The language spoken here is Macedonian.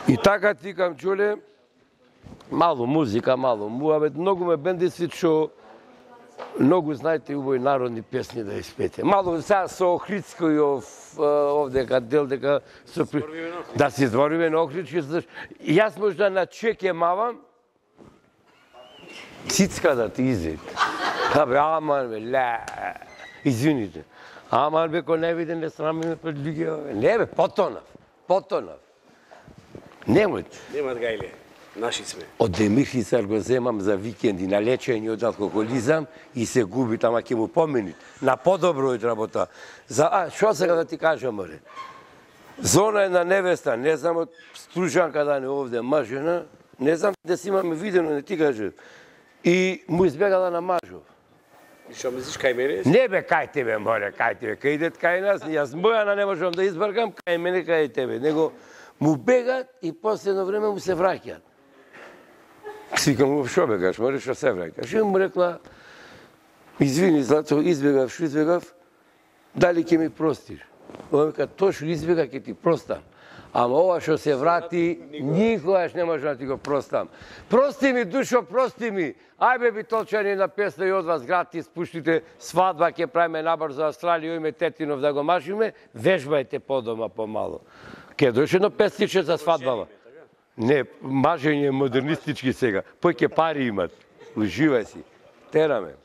И така тикам, чуле, мало музика, мало муавет, многу ме бендиси што многу знаете убави народни песни да испете. Мало сега со Охридскојов овдека дел дека со да се збориме на Охридски. Јас можда на чеке мавам цицка да ти изед. Кабе, аман бе, ле, извините. Аман бе, ко не виде, не срамиме пред луѓе. Не бе, потонав. Немојте. Немат гајле, наши сме. Од Демирхицар го земам за викенди на лечење од алкохолизам и се губи, тама ќе му поменит. На подобро од работа. Шо сега да ти кажам, море? Зона една невеста, не знам од Стружанка да не овде мажена, не знам да си имаме видено, не ти кажам. И му избегала на мажов. И шо мислиш кај мене? Не бе, кај тебе, море, кај тебе. Кај идет кај нас, јас Бојана не можам да избркам, кај мене, кај тебе. Него му бегат и последно време му се враќаат. Свикам му, шо бегаш, море, шо се враќаш? И му рекла, извини, Злато, избегав, дали ќе ми простиш? Он века, точно избега, ќе ти простам. Ама ова што се врати, никогаш не можам да ти го простам. Прости ми, душо, прости ми. Ајбе би толчани на песна и од вас гратис, пуштите свадба, ќе правиме набор за Австралија, име Тетинов да го машиме, вежбајте подома помало. Ке дојше едно песниче за свадбава. Не, мажење е модернистички сега. Пој ке пари имат. Уживај си. Тераме.